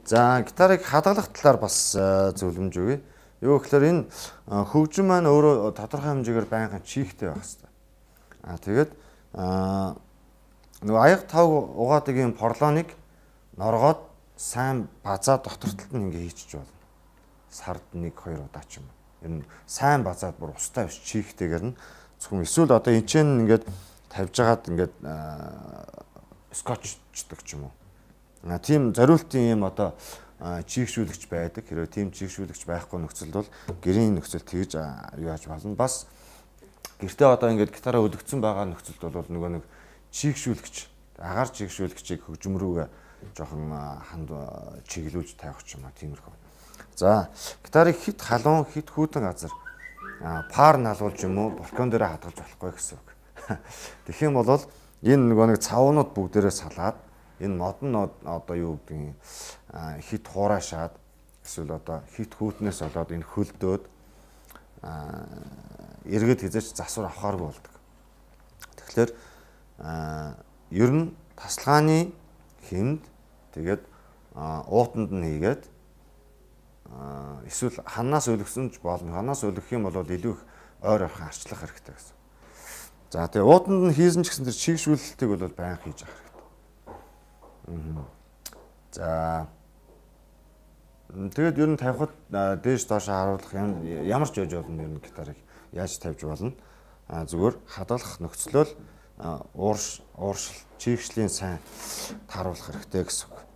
За гитарыг хадгалах талаар бас зөвлөмж өгье. Юу гэхээр энэ хөгжим маань өөрөө тодорхой хэмжээгээр байнгын чихтэй байх хэрэгтэй. Тэгээд нөгөө аяг тав угаадаг юм порлоныг норгоод сайн базаа дотор талд нь ингээ хийчих болно. Сард 1-2 удаа ч юм. Ер нь сайн базаад бүр устай биш чихтэйгээр нь зөвхөн эсвэл одоо энэ ч ингээд тавьж агаад ингээд скотчдаг ч юм уу. Тийм зориултын юм одоо чийгшүүлэгч байдаг. Хэрвээ тийм чийгшүүлэгч байхгүй нөхцөлд бол гэрийн нөхцөл тэгж юу яаж болно. Бас гэртээ одоо ингээд гитараа өлгцсөн байгаа нөхцөлд бол нөгөө нэг чийгшүүлэгч, агаар чийгшүүлэгчийг хөгжим рүүгээ жоохон ханд чиглүүлж тавих ч юм аа тиймэрхүү. За гитарыг хит халуун, хит хүүтэн газар пар налуулж юм уу балкон дээр хадгалж болохгүй гэсэн үг. Тэгэх юм бол энэ нөгөө нэг цавнууд бүгдээрээ салаад энэ модон одоо юу гэдгийг хит хураашаад эсвэл одоо хит хүүтнээс болоод энэ хөлдөөд эргээд хязгаарч засвар авахааргүй болдог. Тэгэхээр ер нь тасалгааны хэмд тэгээд уутанд нь хийгээд эсвэл ханаас өлгсөн ч болно. Ханаас өлгөх юм бол илүү их ойр авах арчлах хэрэгтэй гэсэн. За тэгээ уутанд нь хийсэн ч гэсэн тэр чигшүүлэлтийг бол байнга хийж авах хэрэгтэй. За тэгээд ер нь тавихад дээш доош харуулах ямар ч яж болно ер нь гитарыг яаж тавьж болно. Зүгээр хадгалах нөхцлөөл ууршил чигшлийн сайн тааруулах хэрэгтэй гэсэн үг.